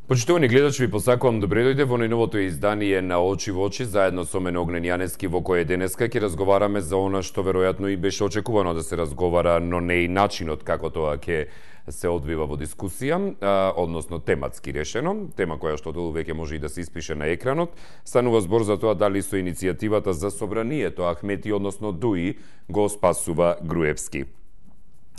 Почитувани гледачи, ви посакувам добре дојде во најновото издание на Очи во очи, заедно со мене Огнен Јанески, во кое денеска ќе разговараме за она што веројатно и беше очекувано да се разговара, но не и начинот како тоа ќе се одвива во дискусија, односно тематски решено, тема која што веќе може и да се испише на екранот. Станува збор за тоа дали со иницијативата за собранието Ахмети, односно Дуи, го спасува Груевски.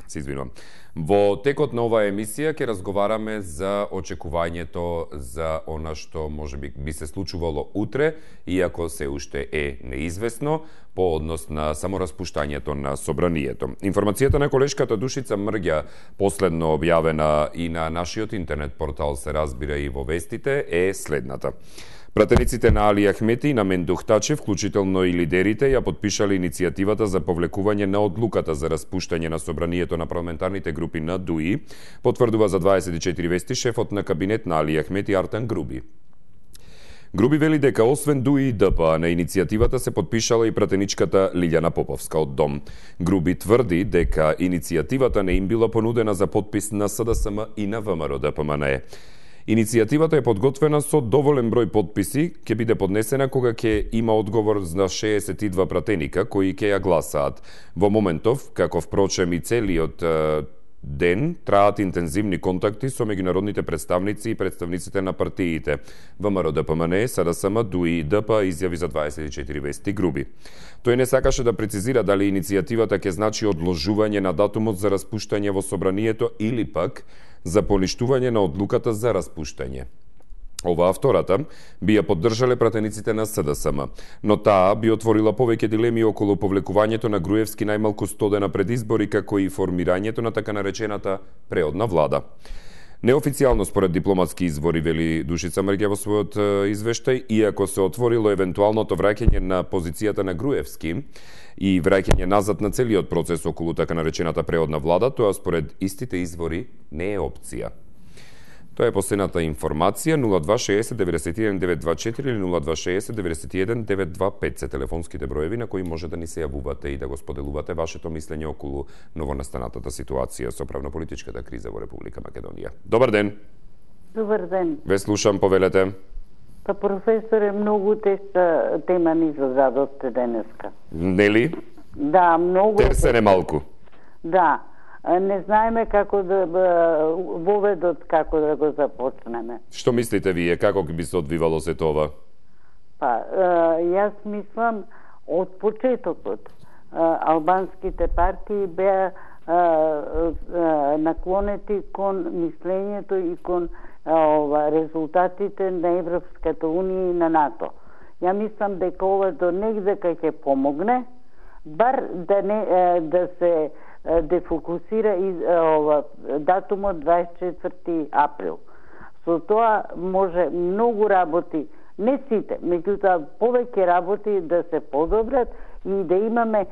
Се извинувам. Во текот на оваа емисија ќе разговараме за очекувањето за она што можеби би се случувало утре, иако се уште е неизвестно, по однос на самораспуштањето на собранието. Информацијата на колешката Душица Мрѓа, последно објавена и на нашиот интернет портал, се разбира и во вестите, е следната. Пратениците на Али Ахмети и на Мендух Тачи, вклучително и лидерите, ја подпишале иницијативата за повлекување на одлуката за распуштање на собранието на парламентарните групи на ДУИ, потврдува за 24 вести шефот на кабинет на Али Ахмети Артан Груби. Груби вели дека освен ДУИ и ДПА на иницијативата се подпишала и пратеничката Лилјана Поповска од Дом. Груби тврди дека иницијативата не им била понудена за подпис на СДСМ и на ВМРО-ДПМНЕ. Иницијативата е подготвена со доволен број подписи, ќе биде поднесена кога ќе има одговор на 62 пратеника кои ќе ја гласаат. Во моментов, како впрочем и целиот ден, траат интензивни контакти со меѓународните представници и представниците на партиите. ВМРО-ДПМНЕ, СДСМ, ДУИ и ДПА изјави за 24 вести Груби. Тој не сакаше да прецизира дали иницијативата ќе значи одложување на датумот за распуштање во собранието или пак за поништување на одлуката за распуштање. Оваа втората би ја поддржале пратениците на СДСМ, но таа би отворила повеќе дилеми околу повлекувањето на Груевски најмалку 100 дена пред избори, како и формирањето на така наречената преодна влада. Неофицијално според дипломатски извори, вели Душица Мрѓа во својот извештај, иако се отворило евентуалното враќање на позицијата на Груевски и враќање назад на целиот процес околу така наречената преодна влада, тоа според истите извори не е опција. Тоа е последната информација. 0260 91 924 или 0260 91 925 се телефонските броеви на кои може да ни се јавувате и да го споделувате вашето мислење околу новонастанатата ситуација со правно-политичката криза во Република Македонија. Добар ден. Добар ден. Ве слушам, повелете. Па, професоре, многу тешка тема ни зададовте денеска. Нели? Да, многу. Терсене малку. Да. Не знаеме како да воведот како да го започнеме. Што мислите вие, како би се одвивало се това? Па, јас мислам од почетокот албанските партии беа наклонети кон мислењето и кон резултатите на Европската унија и на НАТО. Ја мислам дека ова до негде ќе помогне, бар да се дефокусира и датумот 24 април. Со тоа може многу работи, не сите, меѓутоа повеќе работи да се подобрат и да имаме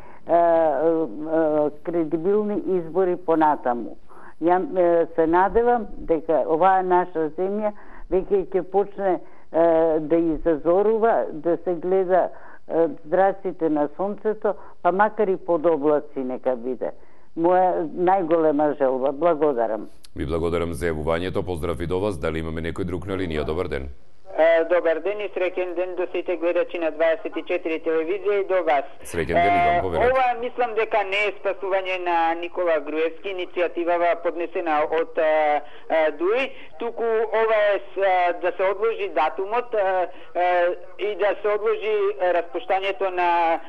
кредибилни избори понатаму. Ја се надевам дека оваа наша земја веќе ќе почне да изазорува, да се гледа зраците на сонцето, па макар и под облаци нека биде. Моја најголема желба. Благодарам. Ви благодарам за јавувањето. Поздрав и до вас. Дали имаме некој друг на линија? Добар ден. Добар ден и среќен ден до сите гледачи на 24 телевизија и до вас. Среќен ден и вам, повелете. Ова мислам дека не е спасување на Никола Груевски, иницијативава поднесена од ДУИ, туку ова е да се одложи датумот и да се одложи распуштањето на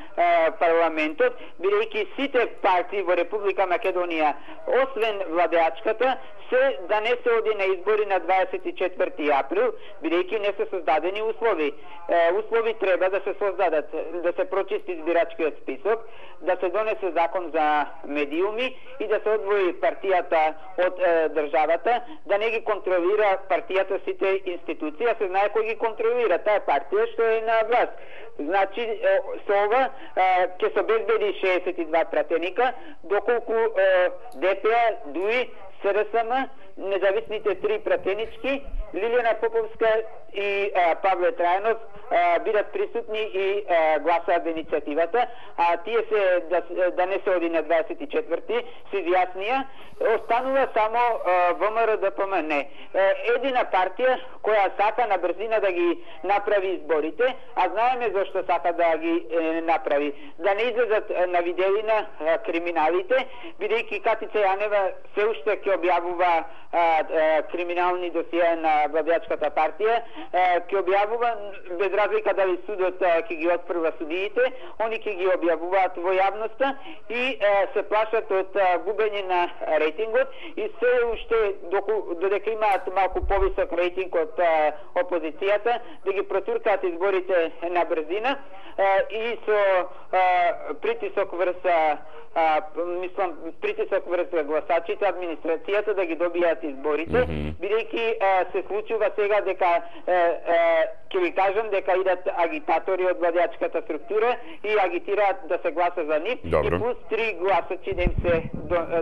парламентот, бидејќи сите партии во Република Македонија, освен владеачката, се да не се оди на избори на 24 април, бидејќи не се создадени услови. Услови треба да се создадат, да се прочисти избирачкиот список, да се донесе закон за медиуми и да се одвои партијата од државата, да не ги контролира партијата сите институции, а се знае кој ги контролира, таа партија што е на власт. Значи, со ова ќе се обезбеди 62 пратеника, доколку ДПА, ДУИ, СДСМ, независните 3 пратенички Лилијана Поповска и Павле Трајанов бидат присутни и гласаат за иницијативата, а тие се да не се оди на 24-ти, се изјаснија, останува само ВМРО ДПМН. Едина партија која сака на брзина да ги направи изборите, а знаеме зашто сака да ги направи. Да не излезат на видеина криминалите, бидејќи Катица Јанева се уште ќе објавува криминални досија на владеачката партија, ќе објавува без разлика дали судот ќе ги отфрла судиите, они ќе ги објавуваат во јавноста и се плашат од губење на рейтингот и се уште додека имаат малку повисок рейтинг од опозицијата да ги протуркаат изборите на брзина и со притисок врз притисок врз гласачите, администрацијата да ги добијат изборите, бидејќи се случува сега дека ќе ви кажам дека идат агитатори од владеачката структура и агитираат да се гласа за нив и плюс 3 гласачи да им се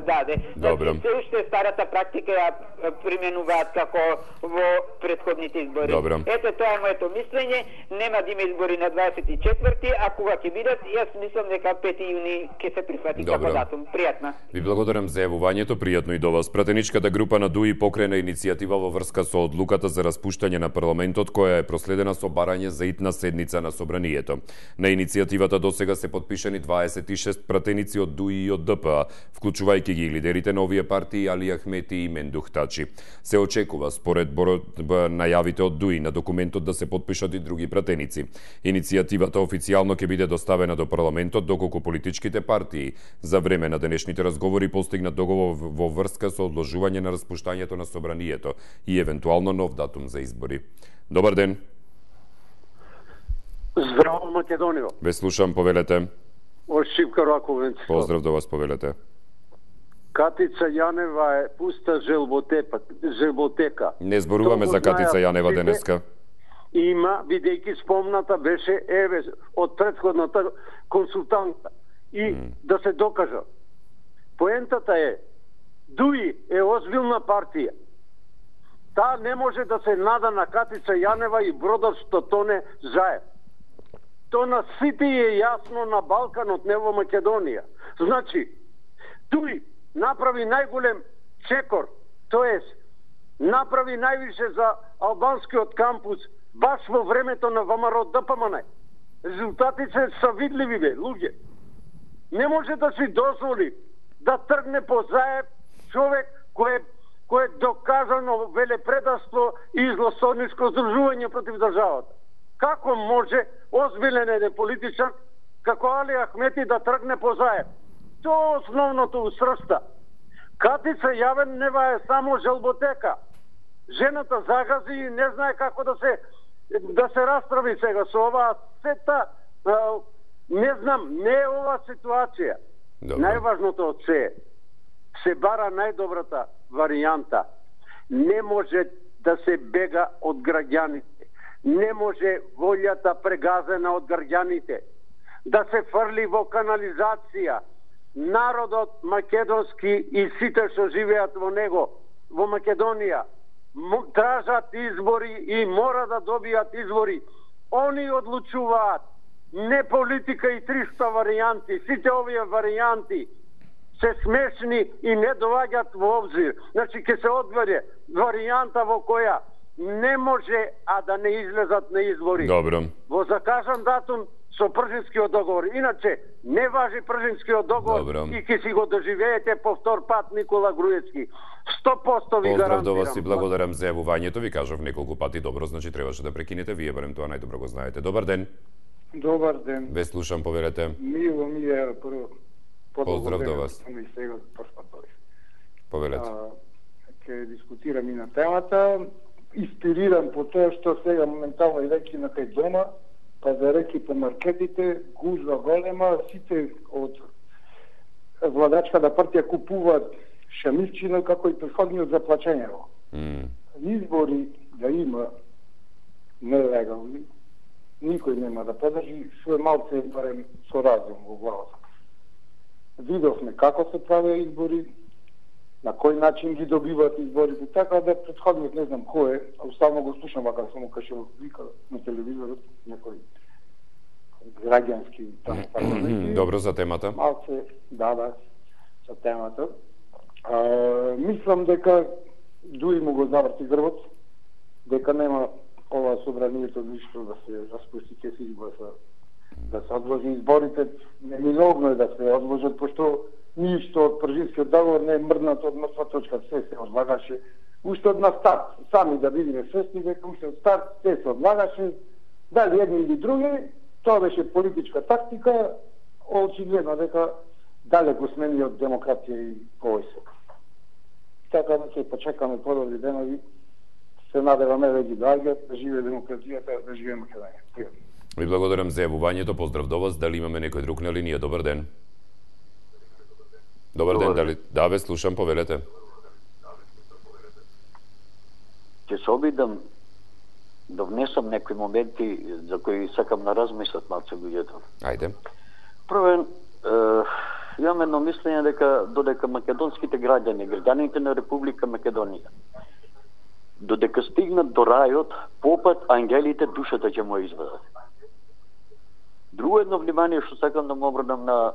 даде. Значи, се уште старата практика ја применуваат како во претходните избори. Ето тоа е моето мислење, нема да има избори на 24-ти, а кога ќе бидат, јас мислам дека 5 јуни ќе се прифати како датум. Пријатна. Ви благодарам за јавувањето, пријатно и до вас. Пратеничката група на ДУИ покрена иницијатива во врска со одлуката за распуштање на парламентот, која е проследена со барање за итна седница на собранието. На иницијативата досега се подпишани 26 пратеници од ДУИ и од ДПА, вклучувајќи ги лидерите на овие партии Али Ахмети и Мендух Тачи. Се очекува, според најавите од ДУИ, на документот да се подпишат и други пратеници. Иницијативата официјално ќе биде доставена до парламентот доколку политичките партии за време на денешните разговори постигнат договор во врска со одложување на распуштањето на собранието и евентуално нов датум за избори. Добар ден. Здраво, Македонијо. Ве слушам, повелете. Од Шипка Раковенци. Поздрав до вас, повелете. Катица Јанева е пуста желботека. Не зборуваме за Катица Јанева денеска. Има, бидејќи спомната беше од претходната консултанта. И да се докажа. Поентата е, ДУИ е озбилна партија. Таа не може да се нада на Катица Јанева и бродот што тоне заед. То на сите е јасно на Балканот, не во Македонија. Значи, ДУИ направи најголем чекор, тоест направи највише за албанскиот кампус баш во времето на ВМРО ДПМН. Резултатите се видливи, бе, луѓе. Не може да си дозволи да тргне по заеб човек кој е доказано велепредавство и злосторничко здружување против државата. Како може озбилен еден политичар како Али Ахмети да тргне по заеб? Тоа е основното усрста. Катица Јанева е само желботека. Жената загази и не знае како да се расправи сега со оваа сета. Не знам, не е ова ситуација. Најважното од се бара најдобрата варијанта. Не може да се бега од граѓаните. Не може волјата прегазена од граѓаните да се фрли во канализација. Народот македонски и сите што живеат во него, во Македонија, тражат избори и мора да добијат избори. Они одлучуваат. Не политика и 300 варијанти. Сите овие варијанти се смешни и не доаѓаат во обзир. Значи, ќе се одбере варијанта во која не може, а да не излезат на избори. Добро. Во закажан датум со Пржинскиот договор. Иначе, не важи Пржинскиот договор. Добро. И ќе си го доживеете повтор пат Никола Груевски. 100% ви гарантирам. Поздрав до вас и благодарам за јавувањето. Ви кажав неколку пати добро, значи требаше да прекинете. Вие барем тоа најдобро го знаете. Добар ден. Добар ден. Ве слушам, повелете. Мило ми е прво. Поздрав до вас. Повелете. Ке дискутирам и на темата. Инспириран по тоа што сега моментално и реки на кај дома, па за реки по маркетите, гужва голема, сите од владачката партија купуваат шамивчина како и претходниот за плачењево. Избори да има нелегални, никој нема да подржи, што е малце барем со разум во главата. Видовме како се правеа избори, на кој начин ги добиваат изборите, така да претходниот не знам кој е, само го слушам вака само кашо вика на телевизорот некој граѓански таму. Добро за темата. Малце, да, за темата. Мислам дека дури му го заврти грбот, дека нема ова собранието ништо да се распусти, ќе се изгласа да се одложи изборите, неминовно е да се одложат, пошто ништо од Пржинскиот договор не е мрднато од мртва точка, се одлагаше. Уште од на старт, сами да бидеме свесни дека уште од старт се одлагаше, дали едни или други, тоа беше политичка тактика, очигледно дека далеко сме ни од демократија и повојсок. Така да ќе почекаме подобри денови, се надеваме да ги доаѓат, да живее демократијата, да живее Македонија. Ви благодарам за јавувањето, поздрав до вас. Дали имаме некој друг на линија? Добар ден. Добар ден, дали... Да, ве слушам, повелете. Ќе се обидам да внесам некои моменти за кои сакам да размислат малце луѓето. Ајде. Првен, имам едно мислење дека додека македонските граѓаните на Република Македонија, додека стигнат до рајот, попат ангелите душата ќе му извадат. Друго едно внимание што сакам да му обрнам на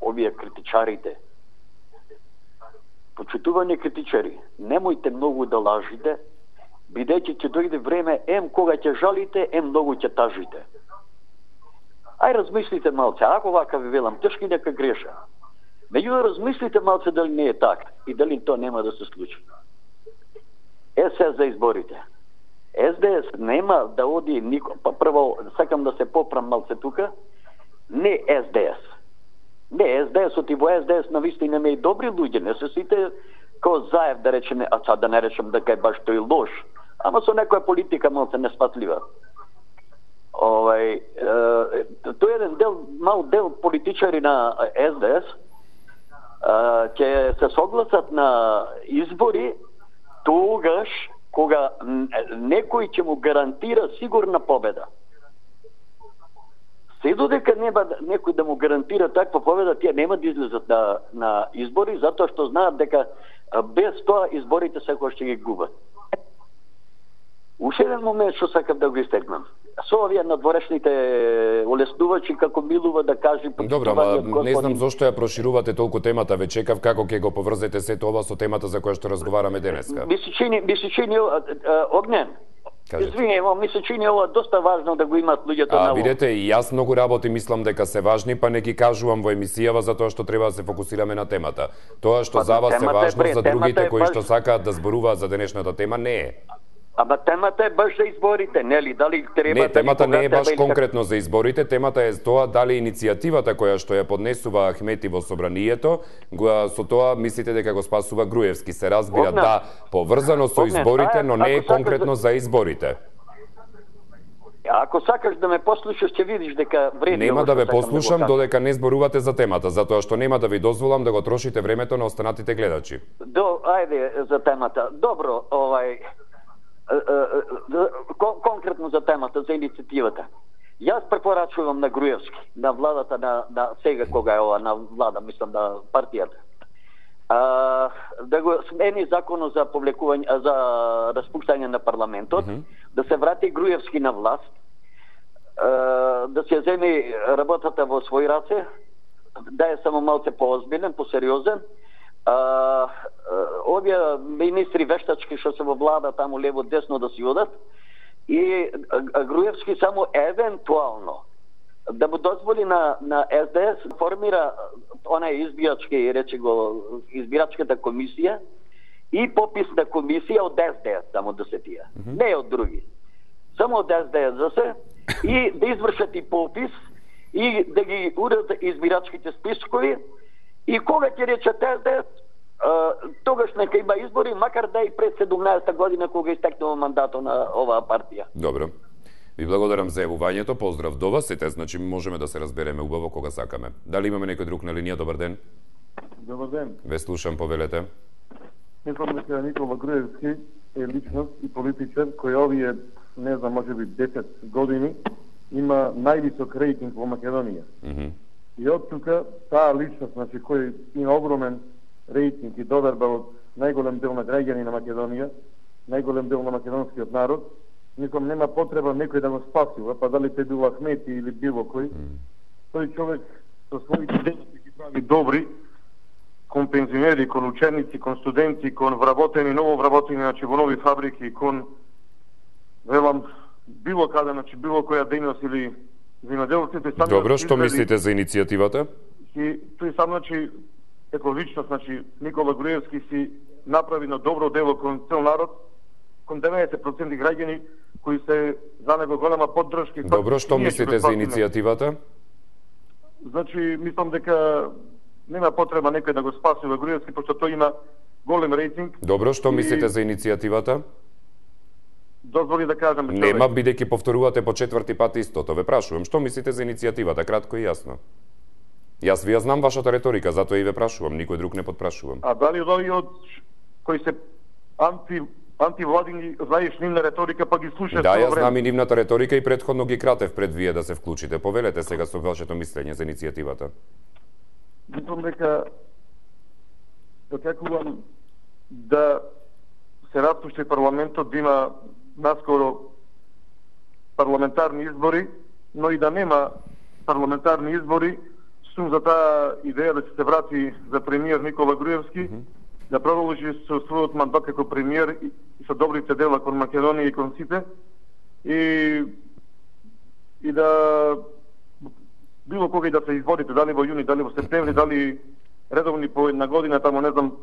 овие критичарите. Почитувани критичари, немојте многу да лажите, бидејќи ќе дојде време кога ќе жалите, многу ќе тажите. Ај размислите малце, ако вака ви велам, тешки нека греша. Меѓутоа размислите малце дали не е така и дали тоа нема да се случи. СС за изборите. СДС нема да оди нико. Па прво сакам да се попрам малце тука. Не СДС. Не СДС-от и во СДС навистина ме и добри луѓе, не се сите ко Заев да речеме, а да не речем дека е баш тој лош, ама со некоја политика малце неспатлива. Тој еден мал дел политичари на СДС ќе се согласат на избори тогаш кога некој ќе му гарантира сигурна победа. Се додека нема некој да му гарантира таква победа, тие нема да излезат на избори, затоа што знаат дека без тоа изборите секој ќе ги губат. Уште еден момент што сакам да го истекнам. Со овие надворешните олеснувачи како милува да кажи... Добро, ама не знам зошто ја проширувате толку темата, ве чекав како ќе го поврзете сето ова со темата за која што разговараме денеска. Ми се чини Огнен. Извинево, ми се чини ова доста важно да го имат луѓето на ово. Видете, и јас многу работи мислам дека се важни, па не ги кажувам во емисијава затоа што треба да се фокусираме на темата. Тоа што за вас е важно, за другите кои што сакаат да зборуваат за денешната тема не е. Ама темата е баш за изборите, нели? Дали треба не, темата не е баш конкретно за изборите, темата е тоа дали иницијативата која што ја поднесува Ахмети во собранието, со тоа мислите дека го спасува Груевски. Се разбира, да, поврзано со изборите, но не е конкретно за изборите. Ако сакаш да ме послушаш, ќе видиш дека вреди. Нема да ве послушам додека не зборувате за темата, затоа што нема да ви дозволам да го трошите времето на останатите гледачи. Ајде за темата. Добро, конкретно за темата, за иницијативата. Јас препорачувам на Груевски, на владата на сега кога е ова, на влада, мислам на партијата, да го смени законот за повлекување, за распуштање на парламентот, да се врати Груевски на власт, да се земи работата во своји раце, да е само малце поозбилен, посериозен. Овие министри вештачки што се во влада таму лево десно да си одат и Груевски само евентуално да му дозволи на СДС формира онај избирачката комисија и пописна комисија од СДС само да се тие. Не од други. Само од СДС да се и да извршат и попис и да ги урат избирачките спискови. И кога ќе речат СДС, тогаш нека има избори, макар да и пред 17-та година кога истекнува мандатот на оваа партија. Добро. Ви благодарам за јавувањето, поздрав до вас, сите, значи можеме да се разбереме убаво кога сакаме. Дали имаме некој друг на линија? Добар ден. Добар ден. Ве слушам, повелете. Мислам дека Никола Груевски е личност и политичар кој овие, не знам, можеби 10 години има највисок рейтинг во Македонија. И од тука таа личност, значи кој има огромен рейтинг и доверба од најголем дел на граѓани на Македонија, најголем дел на македонскиот народ, мислам нема потреба некој да го спасува, па дали те бил Ахмети или било кој. Тој човек со своите делови ги прави добри кон пензионери, кон ученици, кон студенти, кон вработени, ново вработени, значи во нови фабрики, кон велам било каде, значи било која дејност или земјоделците. Добро, што мислите за иницијативата? И тој сам, значи, како личност, значи, Никола Груевски си направи на добро дело кон цел народ, кон 90% граѓани кои се за него голема поддршка. Добро, што мислите за иницијативата? Значи, мислам дека нема потреба некој да го спасува Груевски, пошто тој има голем рейтинг. Добро, што мислите за иницијативата? Дозволи да кажам. Нема, бидејќи повторувате по четврти пат истото. Ве прашувам, што мислите за иницијативата, кратко и јасно? Јас ви ја знам вашата реторика, затоа и ве прашувам, никој друг не подпрашувам. А дали овие од кои се антивладини знаеш нивна реторика, па ги слушаш? Да, јас знам и нивната реторика и претходно ги кратев пред вие да се вклучите. Повелете сега со вашето мислење за иницијативата. Мислам дека очекувам да се распушти парламентот, да има наскоро парламентарни избори, но и да нема парламентарни избори, сум за таа идеја да се врати за премиер Никола Груевски, да продолжи со својот мандат како премиер и со добрите дела кон Македонија и кон сите, и да било кога и да се изборите, дали во јуни, дали во септември, дали редовни по една година, тамо не знам,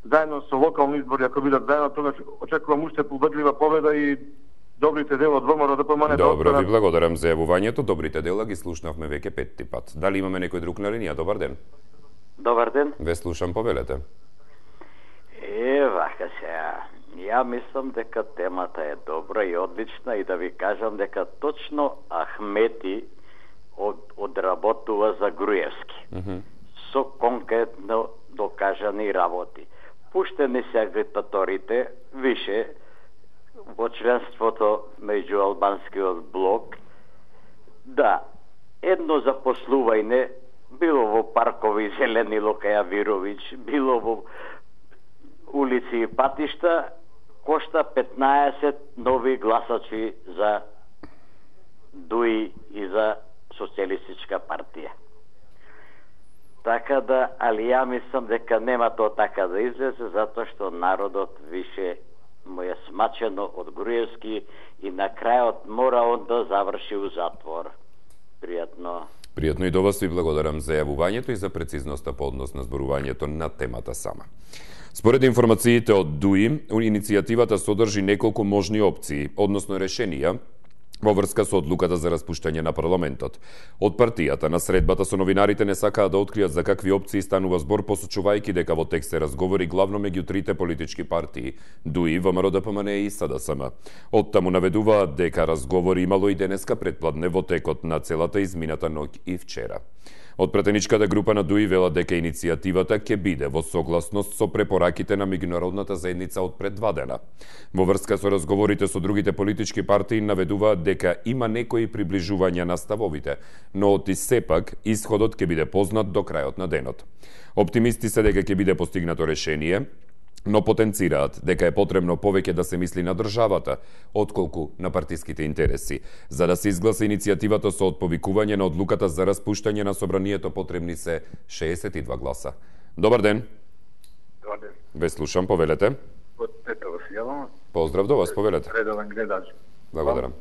заедно со локални избори, ако бидат заедно, тогаш очекувам уште победлива победа и добрите дела од ВМРО ДПМН. Добро, ви благодарам за јавувањето. Добрите дела ги слушнавме веќе петти пат. Дали имаме некој друг на линија? Добар ден. Добар ден. Ве слушам, повелете. Вака сега. Ја мислам дека темата е добра и одлична и да ви кажам дека точно Ахмети одработува за Груевски. Со конкретно докажани работи. Пуштени се агитаторите више во членството меѓу албанскиот блок, да едно запослување било во паркови зелени Лукаја Вировиќ, било во улици и патишта, кошта 15 нови гласачи за ДУИ и за Социјалистичка партија. Така да, али ја мислам дека нема тоа така да излезе, затоа што народот више му е смачено од Груевски и на крајот мора он да заврши у затвор. Пријатно. Пријатно и до вас, ви благодарам за јавувањето и за прецизноста по однос на зборувањето на темата сама. Според информациите од ДУИ, иницијативата содржи неколку можни опции, односно решенија, во врска со одлуката за распуштање на парламентот. Од партијата на средбата со новинарите не сакаат да откријат за какви опции станува збор, посочувајќи дека во текст се разговори главно меѓу трите политички партии ДУИ, ВМРО ДПМН и СДСМ. Оттаму наведуваат дека разговори имало и денеска предпладне во текот на целата измината ноќ и вчера. Од пратеничката група на ДУИ велат дека иницијативата ќе биде во согласност со препораките на меѓународната заедница од пред 2 дена. Во врска со разговорите со другите политички партии наведуваат дека има некои приближувања на ставовите, но од сепак исходот ќе биде познат до крајот на денот. Оптимисти се дека ќе биде постигнато решение, но потенцираат дека е потребно повеќе да се мисли на државата, отколку на партиските интереси. За да се изгласа иницијативата со отповикување на одлуката за распуштање на собранието, потребни се 62 гласа. Добар ден. Добар ден. Ве слушам, повелете. Од Тетово се јавам. Поздрав до вас, повелете. Редовен гледач. Благодарам.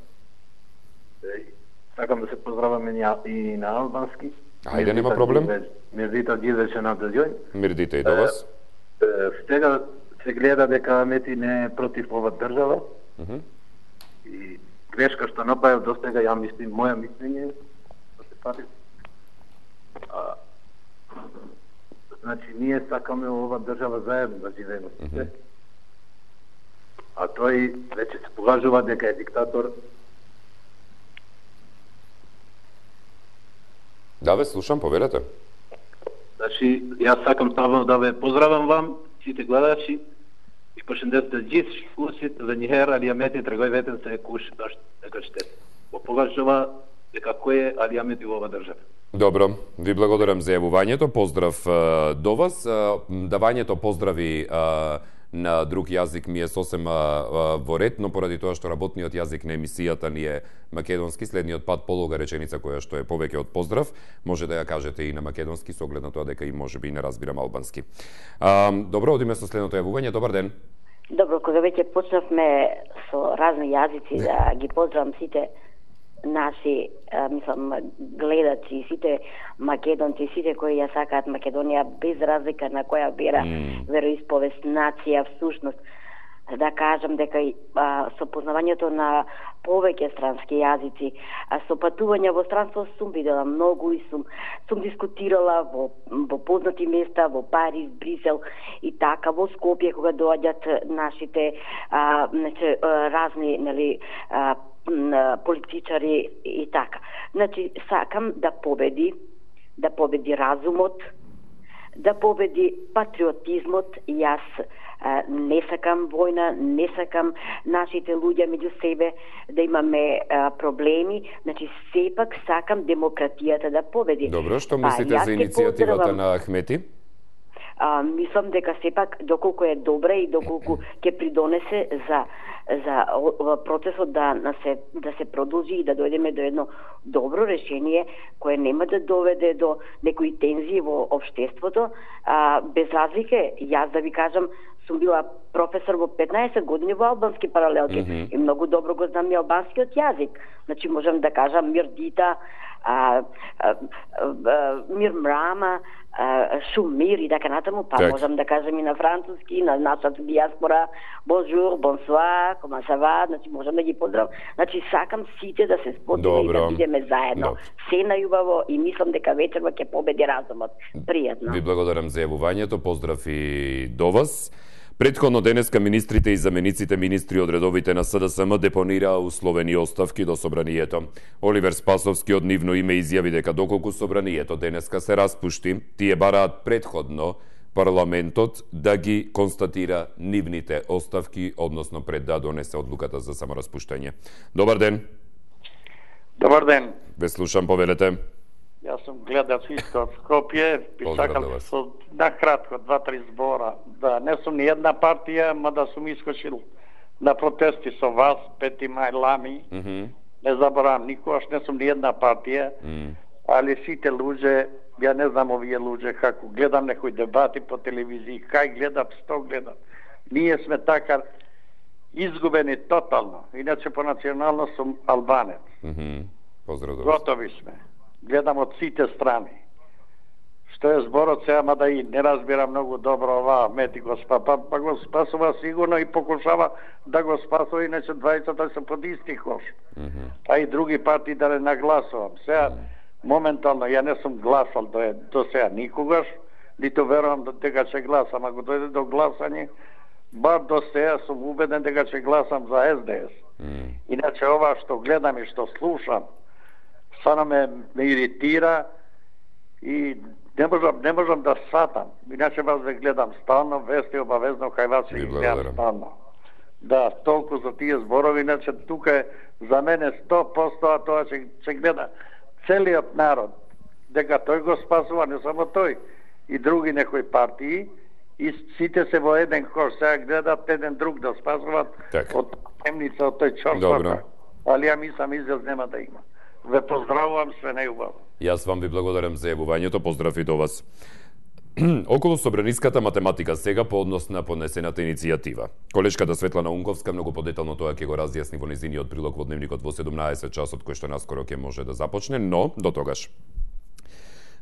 Сакам да се поздравам и на албански. Ајде, нема проблем. Мирдита Гидвече на Дозјој. Мирдите и до вас. Сега се гледа дека Амети не е против ова држава. И грешка што направил до сега, ја мислим, моја мислење, значи ние сакаме ова држава заедно да живееме. А тој веќе се покажува дека е диктатор. Да, ве слушам, повелете. Значи, јас сакам ставно да ве поздравам вам, сите гледачи, и përshëndet gjithë shikuesit dhe një herë Ali Ahmeti tregoi veten se kush është e kështet. Po pokazhova дека кој е Али Ахмети во ова држава. Добро, ви благодарам за јавувањето, поздрав до вас. Давањето поздрави на друг јазик ми е сосема во ред, но поради тоа што работниот јазик на емисијата ни е македонски, следниот пат полога реченица која што е повеќе од поздрав, може да ја кажете и на македонски, со оглед на тоа дека и можеби и не разбирам албански. Добро, одиме со следното јавување. Добар ден. Добро, кога веќе почнавме со разни јазици, да ги поздравам сите наши, гледачи, сите македонци, сите кои ја сакаат Македонија, без разлика на која вера, вероисповест, нација, всушност. Да кажам дека со познавањето на повеќе странски јазици, со патување во странство сум видела многу и сум дискутирала во познати места, во Париз, Брисел и така, во Скопје, кога доаѓат нашите разни, политичари и така. Значи, сакам да победи разумот, да победи патриотизмот. Јас не сакам војна, не сакам нашите луѓе меѓу себе да имаме проблеми, значи сепак сакам демократијата да победи. Добро, што мислите за иницијативата на Ахмети? Мислам дека сепак доколку е добра и доколку ќе придонесе за процесот да се продолжи и да дојдеме до едно добро решение кое нема да доведе до некои тензии во општеството. Без разлика, јас да ви кажам, сум била професор во 15 години во албански паралелки и многу добро го знам и албанскиот јазик. Значи можам да кажам Мирдита, Мир Мрама, Шумир и така натаму, можам да кажам и на француски, на нашата диаспора, бонжур, бонсуар, кома са ва, значи можам да ги поздравам. Значи сакам сите да се сподиме и да бидеме заедно. Се најубаво и мислам дека вечерва ќе победи разумот. Пријатно. Ви благодарам за јавувањето, поздрав и до вас. Претходно денеска министрите и замениците министри од редовите на СДСМ депонираа условени оставки до собранието. Оливер Спасовски од нивно име изјави дека доколку собранието денеска се распушти, тие бараат претходно парламентот да ги констатира нивните оставки, односно пред да донесе одлуката за самораспуштање. Добар ден. Добар ден. Ве слушам, повелете. Јас сум гледач исто од Скопје, сакам со накратко 2-3 збора, да не сум ни една партија, мада сум искочил на протести со вас, 5 мај Лами, не заборавам никогаш, не сум ни една партија, али сите луѓе, ја не знам овие луѓе како гледам некои дебати по телевизија, кај гледам, што гледам. Ние сме така изгубени тотално, иначе по национално сум албанец. Поздрав до вас. Готови сме. Гледам од сите страни. Што е зборот сега, мада и не разбира многу добро ова, Мети го спа, па го спасува сигурно и покушава да го спасува, иначе двајцата се под исти кош. А и други партии да не нагласувам. Сега, моментално, ја не сум гласал до сега никогаш, нито верувам дека ќе гласам. Ако дојде до гласање, бар до сега сум убеден дека ќе гласам за СДС. Иначе ова што гледам и што слушам, стvarno me iritira i ne možem da shvatam. Inače vas gledam stalno, vesti obavezno kaj vas ih gledam stalno. Da, toliko za tije zborovi, inače tuka je za mene 100%, a to će gleda celiot narod. Дека тој го спасува, не само тој, и други некои партии, и сите се во еден кош, сега гледат еден друг да спасуват од темница, од тој чорствата. Али ја мислам изјаз нема да има. Ве поздравувам, све најубаво. Јас вам ви благодарам за јавувањето, поздрав и до вас. Околу собраниската математика сега по однос на поднесената иницијатива. Колешката Светлана Унковска многу подетално тоа ќе го разјасни во незиниот прилог во дневникот во 17 часот, кој што наскоро ќе може да започне, но до тогаш.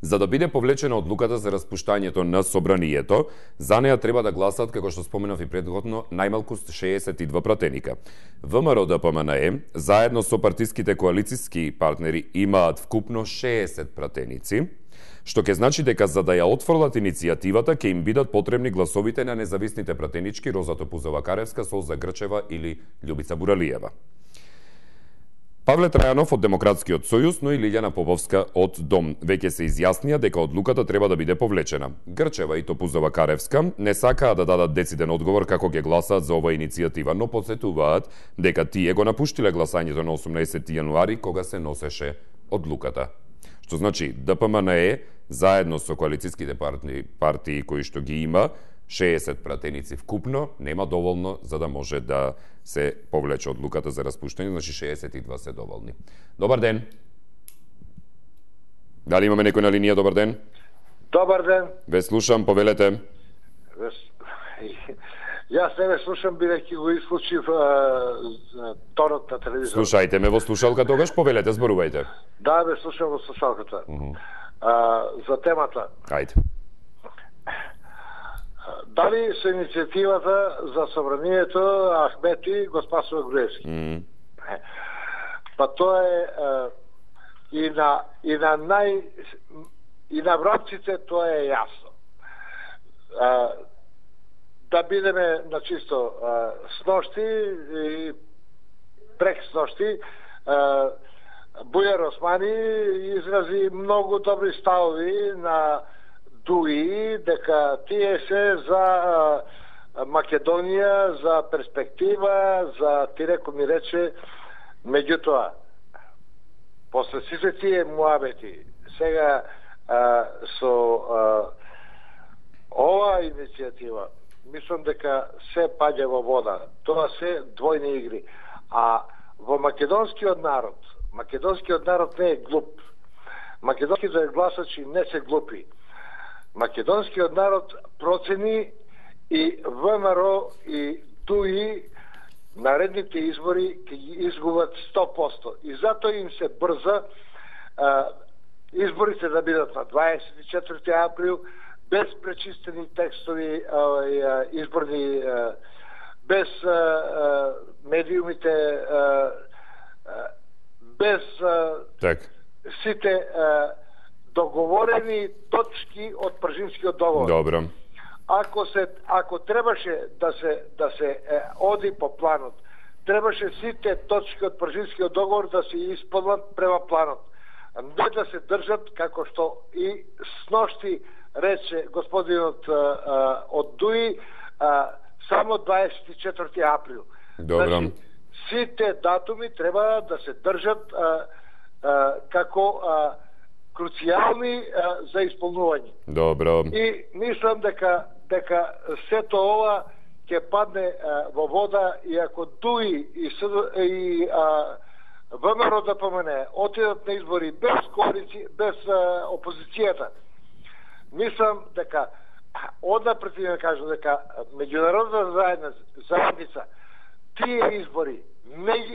За да биде повлечена одлуката за распуштањето на собранието, за неа треба да гласат, како што споменав и предходно, најмалку 62 пратеника. ВМРО ДПМНЕ, заедно со партиските коалициски партнери, имаат вкупно 60 пратеници, што ќе значи дека за да ја отфрлат иницијативата ќе им бидат потребни гласовите на независните пратенички Роза Топузова-Каревска, Солза Грчева или Љубица Буралиева. Павле Трајанов од Демократскиот сојуз, но и Лилјана Поповска од Дом веќе се изјаснија дека одлуката треба да биде повлечена. Грчева и Топузова-Каревска не сакаа да дадат дециден одговор како ќе гласаат за оваа иницијатива, но потсетуваат дека тие го напуштиле гласањето на 18 јануари кога се носеше одлуката. Што значи ДПМН заедно со коалицијските партии кои што ги има 60 пратеници вкупно, нема доволно за да може да се повлече одлуката за распуштање, значи 62 се доволни. Добар ден. Дали имаме некој на линија? Добар ден. Добар ден. Ве слушам, повелете. Јас не ве слушам, бидејќи го исклучив тонот на телевизор. Слушајте ме во слушалка тогаш, повелете, зборувајте. Да, ве слушам во слушалката. За темата. Ајде. Дали со иницијативата за собранието Ахмети го спасува Груевски? Па тоа е и на врабците тоа е јасно. Да бидеме на чисто сношти и прек сношти, Бујар Османи изрази многу добри ставови на ДУИ дека тие се за Македонија, за перспектива, за тиреко ми рече, меѓутоа после сите тие муабети сега со ова иницијатива мислам дека се паѓа во вода. Тоа се двојни игри. А во македонскиот народ не е глуп. Македонските гласачи не се глупи. Македонскиот народ процени и ВМРО и ДУИ наредните избори ќе ги изгубат 100%. И затоа им се брза изборите да бидат на 24 април, без пречистени текстови изборни, без медиумите, без сите договорени точки од Пржимскиот договор. Добро. Ако требаше да се оди по планот, требаше сите точки од Пржимскиот договор да се исполнат према планот. Не да се држат како што и сношти рече господинот од ДУИ само 24 април. Добро. Значи, сите датуми треба да се држат како круцијални за исполнување. Добро. И мислам дека сето ова ќе падне во вода и ако ДУИ и ВМРО ДПМН отидат на избори без коалиција, без опозицијата, мислам дека однапред да кажам дека меѓународната заедница тие избори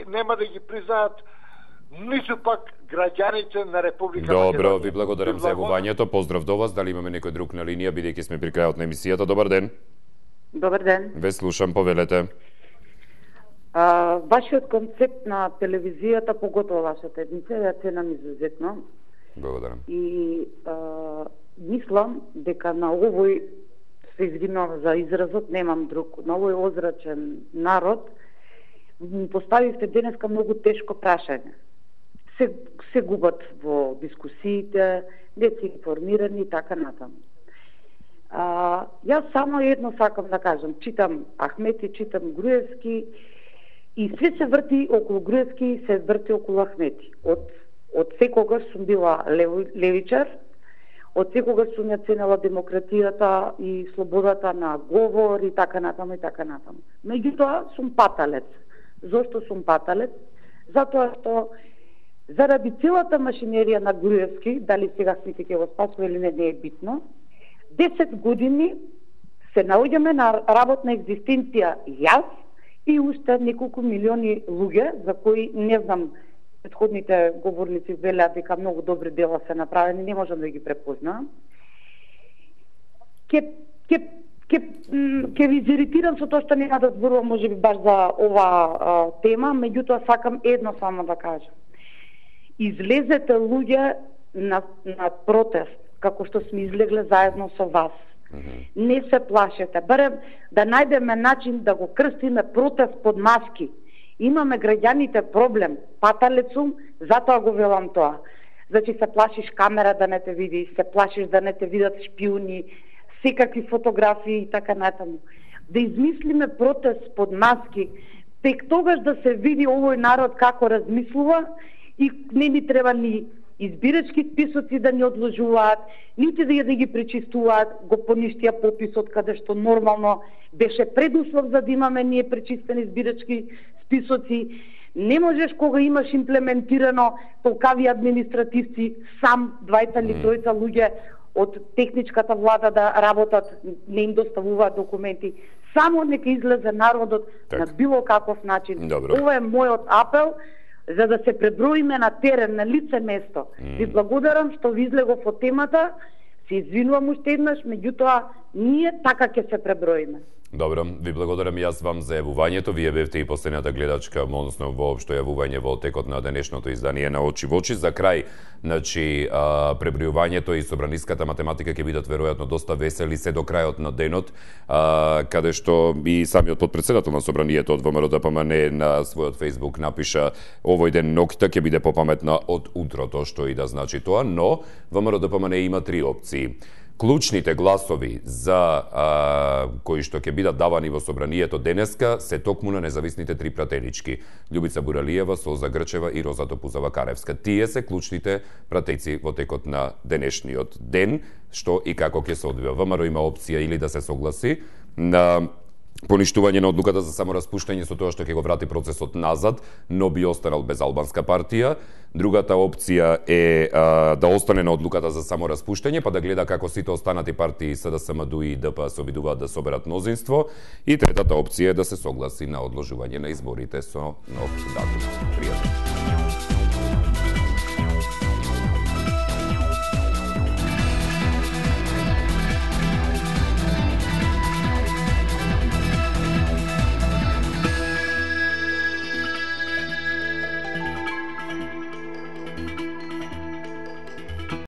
нема да ги признаат ниту пак граѓаните на Република Македонија. Добро, ви благодарам за јавувањето. Поздрав до вас. Дали имаме некој друг на линија, бидејќи сме при крајот на емисијата? Добар ден. Добар ден. Ве слушам, повелете. Вашиот концепт на телевизијата, поготово вашата емисија, ја ценам изузетно. Благодарам. И мислам дека на овој, се извинувам за изразот, немам друг, на овој озрачен народ, поставивте денеска многу тешко прашање. Се губат во дискусиите, не се информирани и така натаму. Јас само едно сакам да кажам. Читам Ахмети, читам Груевски и све се врти околу Груевски и се врти околу Ахмети. Од секогаш сум била левичар, од секогаш сум ја ценела демократијата и слободата на говор и така натаму и така натаму. Меѓутоа сум паталец. Зошто сум паталец? Затоа што заради целата машинерија на Груевски, дали сега сите ќе го спасува или не е битно, 10 години се наоѓаме на работна екзистенција јас и уште неколку милиони луѓе, за кои не знам, претходните говорници велеа дека многу добри дела се направени, не можам да ги препознам. Ке ви изиритирам со тоа што нема да зборувам можеби баш за ова тема, меѓутоа сакам едно само да кажам. Излезете луѓе на протест, како што сме излегле заедно со вас. Не се плашете, барем да најдеме начин да го крстиме протест под маски. Имаме граѓаните проблем, паталец сум, затоа го велам тоа. Значи се плашиш камера да не те види, се плашиш да не те видат шпиони, секакви фотографии и така натаму. Да измислиме протест под маски, тек тогаш да се види овој народ како размислува и не ни треба ни избирачки списоци да не одложуваат, нити да ги пречистуваат, го поништија пописот каде што нормално беше предуслов за да имаме ние пречистени избирачки списоци. Не можеш кога имаш имплементирано толкави административци, сам двајца или тројца луѓе од техничката влада да работат, не им доставуваат документи. Само нека излезе народот на било каков начин. Ова е мојот апел, за да се преброиме на терен, на лице место. Ви благодарам што ви излегов од темата, се извинувам уште еднаш, меѓутоа ние така ќе се преброиме. Добро, ви благодарам и јас вам за јавувањето. Вие бевте и последната гледачка, односно воопшто јавување во текот на денешното издание на Очи во очи. За крај, значи, пребројувањето и собраниската математика ќе бидат веројатно доста весели се до крајот на денот, каде што и самиот подпредседател на собранието од ВМРО ДПМН на својот Facebook напиша: овој ден ноќта ќе биде попаметна од утрото, што и да значи тоа, но ВМРО ДПМН има три опции. Клучните гласови за кои што ќе бидат давани во собранието денеска се токму на независните три пратенички: Љубица Буралиева, Солза Грчева и Роза Топузава-Каревска. Тие се клучните пратејци во текот на денешниот ден, што и како ќе се одвива. ВМРО има опција или да се согласи на поништување на одлуката за самораспуштање со тоа што ќе го врати процесот назад, но би останал без албанска партија. Другата опција е да остане на одлуката за самораспуштање, па да гледа како сите останати партии СДСМ, и ДП се обидуваат да соберат мнозинство. И третата опција е да се согласи на одложување на изборите со нов датум. Пријатно.